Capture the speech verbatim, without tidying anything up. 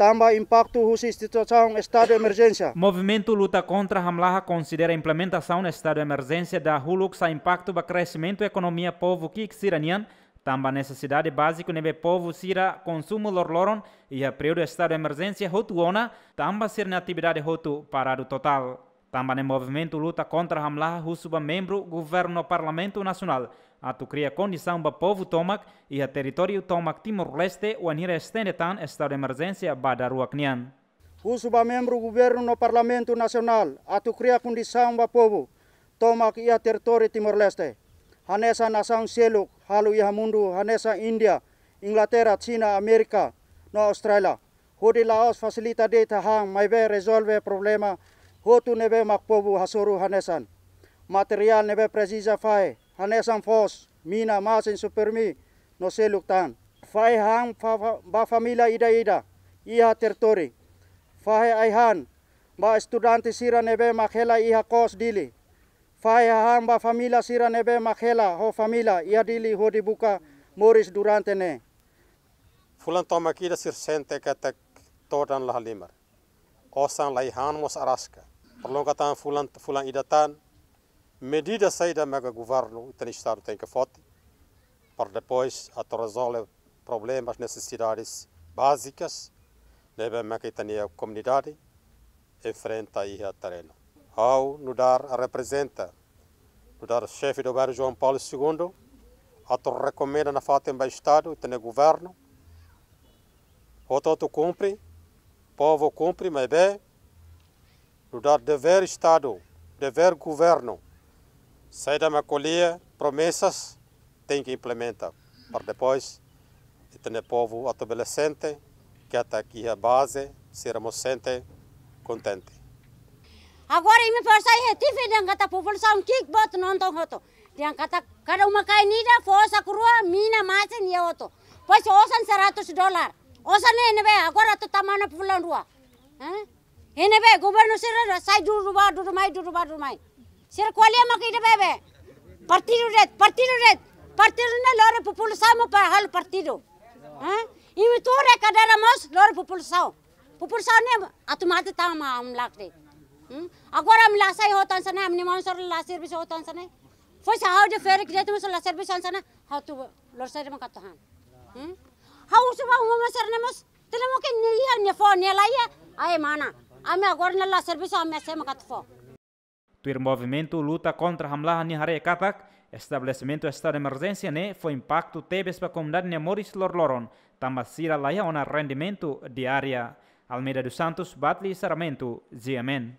tanba impaktu husi situasaun estadu emerjénsia. Movimentu Luta Kontra Hamlaha konsidera implementasaun estadu emerjénsia dahuluk sai impaktu ba kresimentu ekonomia povu ki'ik sira-nian, tanba nesesidade báziku ne'ebé povu sira konsumu loroloron iha períodu estadu emerjénsia hotu ona, tanba sira-nia atividade hotu paradu totál. Tanba ne'e Movimentu Luta Kontra Hamlaha husu ba membru governu no Parlamentu Nasionál atu kria kondisaun ba povu tomak iha territóriu tomak Timor-Leste, wainhira estende tan estadu emerjénsia ba daruak nian. Husu ba membru governu no Parlamentu Nasionál atu kria kondisaun ba povu tomak iha territóriu Timor-Leste, hanesan nasaun seluk halo iha mundu, hanesan Índia, Inglaterra, Xina, Amérika no Austrália, hodi la'ós fasilita de'it hahán, maibé rezolve problema hotu ne'ebé mak povu hasoru, hanesan materiál ne'ebé presiza fahe, hanesan foos, mina, masin, supermi no seluk tan. Fahe hahán fa-, fa-, ba família ida-ida iha territóriu. Fahe ai-han ba estudante sira ne'ebé mak hela iha kos Dili. Fahe hahán ba família sira ne'ebé mak hela ho família iha Dili hodi buka moris durante ne'e. Fulan tomak ida sira sente katak todan la halimar. Osan la iha, han mós araska. Prolonga tan fulan, fulan ida tan. Medida saida maka governu, ita-nia estadu tenke foti para depois atu rezolve problemas, nesesidades bázikas ne'ebé maka ita-nia komunidade enfrenta iha terrenu. Ha'u nu'udar reprezenta, nu'udar xefe do bairru João Paulo Segundo, atu rekomenda nafatin ba estadu, ita-nia governu, hotu-hotu kumpre, povu kumpre, maibé nu'udar devér estadu, devér governu, saida mak ko'alia, promesas, tenke implementa para depois ita-nia povu atu bele sente katak iha baze, sira mós sente kontente. Agora imi forsa iha T V dehan katak populasaun ki'ik boot nonton hotu. Dehan katak kada uma-kain ida fó osan rua, mina, masin iha hotu. Depois osan seratus dolar. Osan ne'e ne'ebé agora atu tama ona fulan rua. Hah? Ne'ebé governu sira sai dudu bá dudu mai, dudu bá dudu mai. Sira ko'alia mak ida bebe. Partidu de'it, partidu de'it. Partidu ne'e lori populasaun mak para halo partidu. Hah? Imi tuur iha kadeira mós lori populasaun. Populasaun ne'e atu mate tama ami lakre. Hmm? Agora ami la sai hotu hanesan ne'e, ami-nia maun sira la servisu hotu hanesan ne'e. Foin sa ha'u dehan ferik de'it mós la servisu hanesan ne'e, ha'u atu lori saida mak atu han. Hmm? Ha'u husu ba uma-uma sira-ne'e mós, tenke mungkin nia iha, nia fó, nia la iha, ai mana. Ami agora ne'e la servisu, ami hanesan mak atu fó. Tuir Movimentu Luta Kontra Hamlaha nia haree katak, estabelesimentu estadu emerjénsia ne'e fó impaktu tebes ba komunidade nia moris loroloron, tanba sira la iha ona rendimentu diária. Almeida dos Santos, Batli Sarmento, G M N.